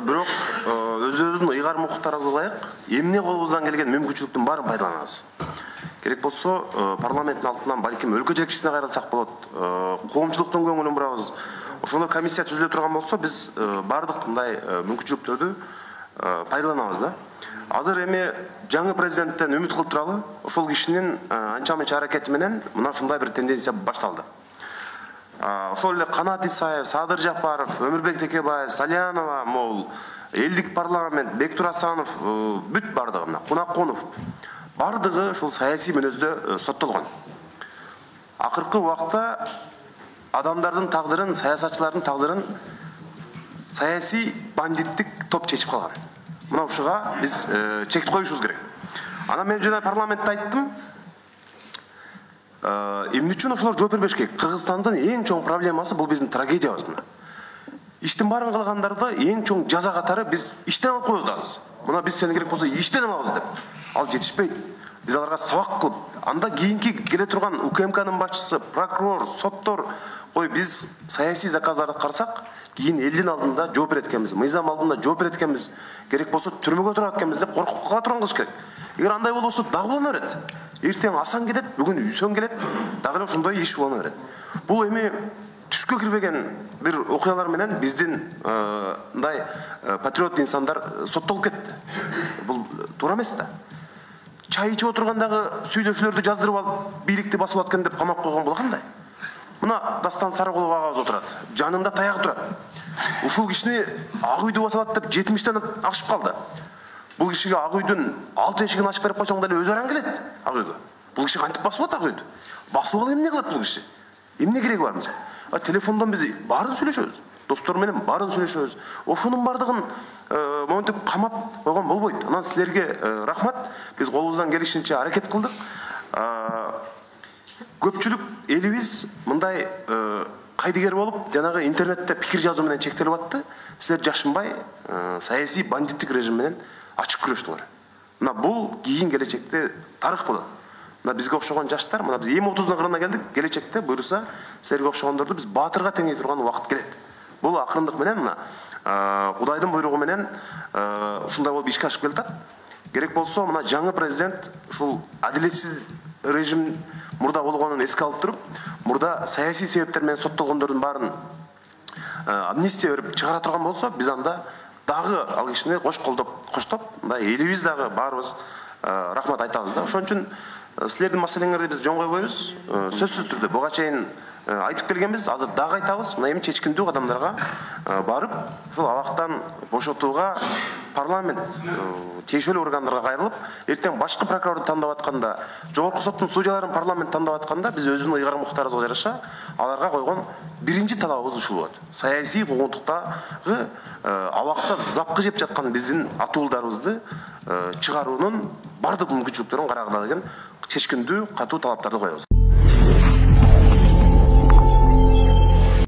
бирок өзүбүздүн ыйгарым укуктарыбызга ылайык эмне колубуздан келген мүмкүнчүлүктүн баарын пайдаланабыз. Керек болсо парламенттин алдынан балким өлкө жетекчисине кайрылсак болот, коомчулуктун көңүлүн бурабыз. Ошондой комиссия түзүлө турган болсо биз баардык мындай мүмкүнчүлүктөрдү пайдаланабыз да. Азыр эми жаңы президенттен үмүт кылып туралы, ошол кишинин анча мынча аракети менен мына ушундай бир тенденция башталды. Ошол эле Канат Исаев, Садыр Жапаров, Өмүрбек Текебаев, Салянова, могул элдик парламент, Бектур Асанов, бүт бардыгы мына Кунакконов бардыгы ушул саясий мүнөздө соттолгон. Акыркы убакта адамдардын тагдырын, саясатчылардын тагдырын саясий бандиттик топ чечип калган. Мына ушуга биз чек коюшубуз керек. Анан мен жана парламентте айттым, эмне үчүн ошолор жооп бербеш керек? Кыргызстандын эң чоң проблемасы бул биздин трагедиябыз мына. Иштин баарын кылгандарды эң чоң жаза катары биз иштен алып коебуз дагы. Мына биз сени керек болсо иштен алабыз деп. Ал жетишпейт. Биз аларга сабак кылып, анда кийинки келе турган УКМКнын башчысы, прокурор, соттор, биз саясий заказдарды карасак, кийин элдин алдында жооп берет экенбиз, мыйзам алдында жооп берет экенбиз, керек болсо түрмөгө турат экенбиз деп коркуп кала турган кылыш керек. Эгер андай болбосо дагы улана берет. Эртең Асан кетет, бүгүн Үсөн келет, дагы эле ошондой иш улана берет. Бул эми түшкө кирбеген бир окуялар менен биздин мындай патриот инсандар соттолуп кетти. Бул туура эмес да. Чай ичип отургандагы сүйлөшүүлөрдү жаздырып алып, бийликти басып аткан деп камап койгон бул кандай? Мына Дастан Сарыгулов агабыз отурат, жанында таягы турат. Ушул кишини ак үйдү басып алат деп 70тен ашып калды. Бул кишиге ак үйдүн 6 эшигин ачып берип койсоң деле өз араң келет ак үйгө. Бул киши кантип басып алат ак үйдү? Басып алып эмне кылат бул киши? Эмне кереги бар мисалы? Телефондон биз баарын сүйлөшөбүз. Достор менен баарын сүйлөшөбүз. Ошонун бардыгын монтип камап койгон болбойт. Анан силерге рахмат. Биз колубуздан келишинче аракет кылдык. Көпчүлүк элибиз мындай кайдыгер болуп, жанагы интернетте пикир жазуу менен чектелип атты. Силер жашынбай саясий бандиттик режим менен ачык күрөштүңөр. Мына бул кийин келечекте тарых болот. Мына бизге окшогон жаштар, мына биз 30-дун кырына келдик. Келечекте буйруса, силерге окшогондорду биз баатырга теңей турган убакыт келет. Бул акырындык менен мына Кудайдын буйругу менен ушундай болуп ишке ашып келатат. Керек болсо мына жаңы президент ушул адилетсиз режим мурда болгонун эске алып туруп, мурда саясий себептер менен соттолгондордун баарын амнистия берип чыгара турган болсо, биз анда дагы ал кишини коштоп, мындай элибиз дагы баарыбыз рахмат айтабыз да. Ошон үчүн силердин маселеңерди биз жөн койбойбуз. Сөзсүз түрдө буга чейин айтып келгенбиз, азыр дагы айтабыз. Мына эми чечкиндүү кадамдарга барып, ушул абактан бошотууга парламент тийиштүү органдарга кайрылып, эртең башкы прокурорду тандап атканда, жогорку соттун судьяларын парламент тандап атканда, биз өзүнүн ыйгарым укуктарыбызга жараша аларга койгон биринчи талабыбыз ушул болот. Саясий куугунтуктагы абакта запкы жеп жаткан биздин атуулдарыбызды чыгаруунун бардык мүмкүнчүлүктөрүн карагыла деген чечкиндүү, катуу талаптарды коебуз.